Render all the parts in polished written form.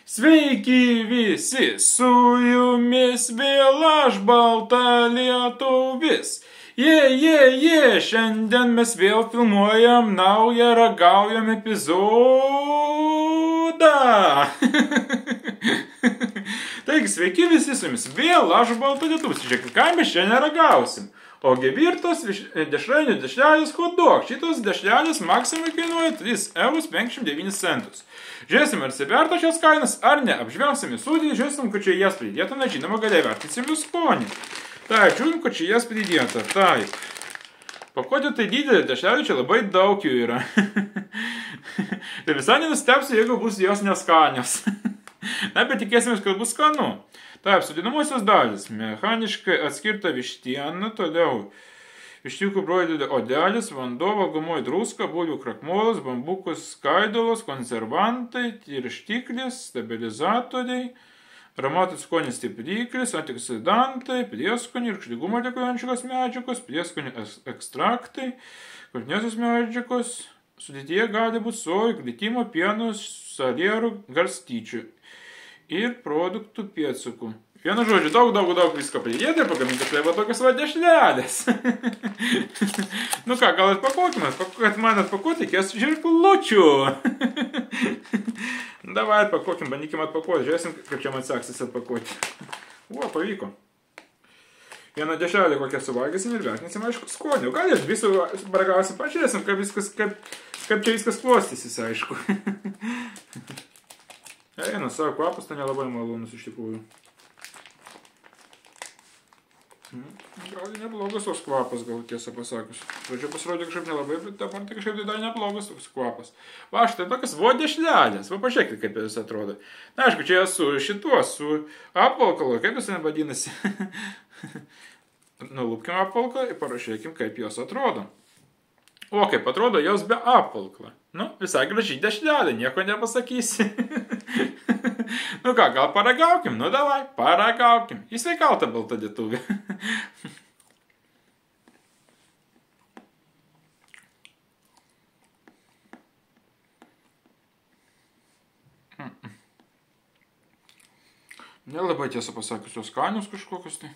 Sveiki visi, su jumis vėl aš balta lietuvis. Šiandien mes vėl filmuojam naują ragaujam epizodą. Taigi, sveiki visi, su jumis vėl aš balta lietuvis. Žiūrėkit, ką mes šiandien ragausim. Ogi virtos dešrainių dešrelės hot-dog. Šitos dešrelės maksimai kainuoja 3,59 €. Žiūrėsim, ar įsiverto šios kainas, ar ne. Apžvelgsime sudėtį, žiūrėsim, kad čia jas pridėta, na žinoma, galiai vertinsim jų skonį. Tai, žiūrim, kad čia jas pridėta. Tai, pakuotė tai didelė, dešrelių čia labai daug jų yra. Tai visai nenustepsiu, jeigu bus jos neskanios. Na, bet tikėsimės, kad bus skanu. Taip, sudėdamosios dalis. Mechaniškai atskirta vištiena, toliau vištiukų broilio odelis, vanduo, valgomoji druska, bulvių krakmolas, bambukų skaidulos, konservantai, tirštiklis, stabilizatoriai, aromatų skonis stipriklis, antioksidantai, prieskonių ir rūgštingumą deklaruojančios medžiagos, prieskonių ekstraktai, kultiniosios medžiagos. Sudėtyje gali būti sojų, glitimo, pieno, salierų, garstyčių ir produktų pėdsakų. Vienu žodžiu, daug visko pridėti ir pagaminti štai va tokias va dešrelės. Nu ką, gal atpakuokime, kad man atpakuoti reikės žirklučių. Davai atpakuokim, bandykim atpakuoti, žiūrėsim, kaip čia man seksis atpakuoti. O, pavyko. Vieną dešrelę kokią suvalgysim ir vertinsim, aišku, skonį. Gal ir visų baragausim, pažiūrėsim, kaip čia viskas klostysis, aišku. Eina, savo kvapas, tai nelabai malonus iš tikrųjų. Gal neblogas toks kvapas, gal tiesą pasakius. Pradžio pasirodė kažkaip nelabai, bet dabar tai kažkaip dar neblogas toks kvapas. Va, štai tokias dešrelės. Va, pažiūrėkite, kaip jis atrodo. Na, aišku, čia su šituo, su apvalkalu, kaip jis vadinasi. Nulupkim apvalkalą ir parašykim, kaip jos atrodo. O, kaip atrodo jos be apvalkalą. Nu, visai gražiai dešrelė, nieko nepasakysi. Nu ką, gal paragaukim? Nu davai, paragaukim. Į sveikatą balta lietuvė. Nelabai tiesą pasakius, jos skanios kažkokios tai.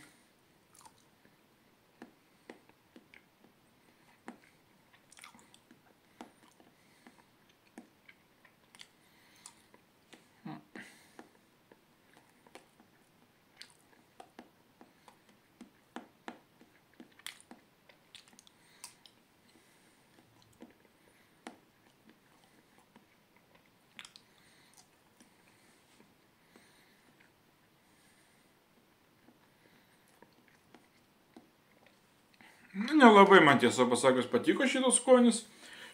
Nelabai man tiesą pasakius patiko šitas skonis,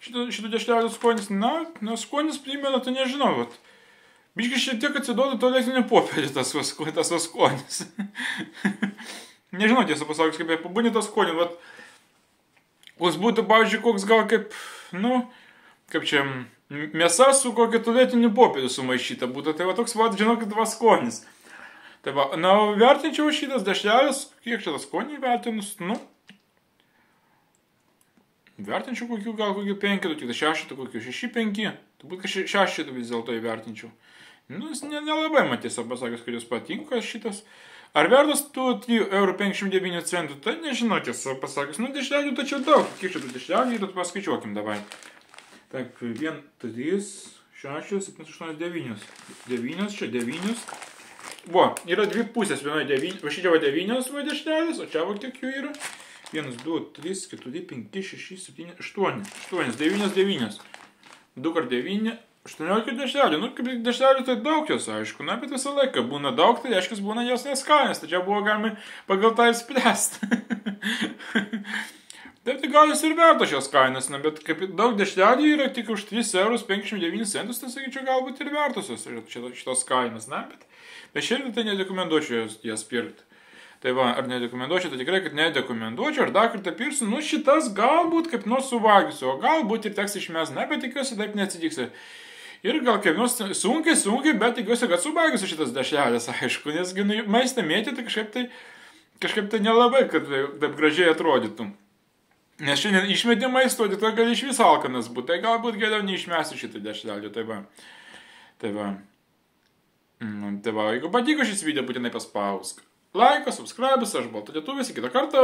šitų dešrelių skonis. Na, skonis primena, tai nežinau, vat. Biškai šiek tiek atsiduoda tualetinį popierį tas skonis. Nežinau tiesą pasakius, kaip pabūnė tas skonis, vat. Koks būtų, pavyzdžiui, koks gal kaip, nu, kaip čia, mėsa su kokiu tualetiniu popieriu sumaišyta būtų. Tai va toks, va, žinokit, va skonis. Tai va, na, vertinčiau šitas dešrelis, kiek čia tas skonį vertinus, nu, vertinčiau kokių 5, tik 6, kokių 6-5, turbūt 6 vis dėlto įvertinčiau. Nu, nelabai man tiesiog pasakius, kad jūs patinka šitas. Ar vertas tų 3,59 €? Tai nežinau tiesiog pasakius. Nu, dešrelių tačiau daug. Kiek šitų dešrelių ir paskaičiuokim davai. Tak, 1, 3, 6, 7, 8, 9. 9 čia 9. Buvo, yra dvi pusės. Vienoje 9, va šičia va 9 va dešrelės, o čia va kiek jų yra. 1, 2, 3, 4, 5, 6, 7, 8. 8, 9, 9. 2 kart 9, 18 dešrelių. Nu, kaip dešrelių tai daug jos, aišku. Na, bet visą laiką būna daug, tai reiškia, būna jos neskanės. Tai čia buvo galima pagal tą ir spręsti. Taip, tai gal jis ir verto šios kainos. Na, bet kaip daug dešrelių yra tik už 3,59 €, tai sakyčiau, galbūt ir vertosios šitos kainos. Na, bet šiandien tai nerekomenduočiau jas pirkti. Tai va, ar nerekomenduočiau, tai tikrai, kad nerekomenduočiau, ar dar kartą pirksiu, nu šitas galbūt kaip nors suvalgysiu, o galbūt ir teks išmest, na, bet tikiuosi taip neatsitiks. Ir gal kaip nors sunkiai, bet tikiuosi, kad suvalgysiu šitas dešrelės, aišku, nes maistą mėtyti kažkaip tai nelabai, kad taip gražiai atrodytų. Nes šiandien išmeti maisto, tai gali iš vis alkanas būti, tai galbūt geriau neišmesti šitą dešrelį, tai va. Tai va, jeigu patiko šis video, būtinai paspausk laiką, subscribe, aš Balta Lietuvis, iki kito karto.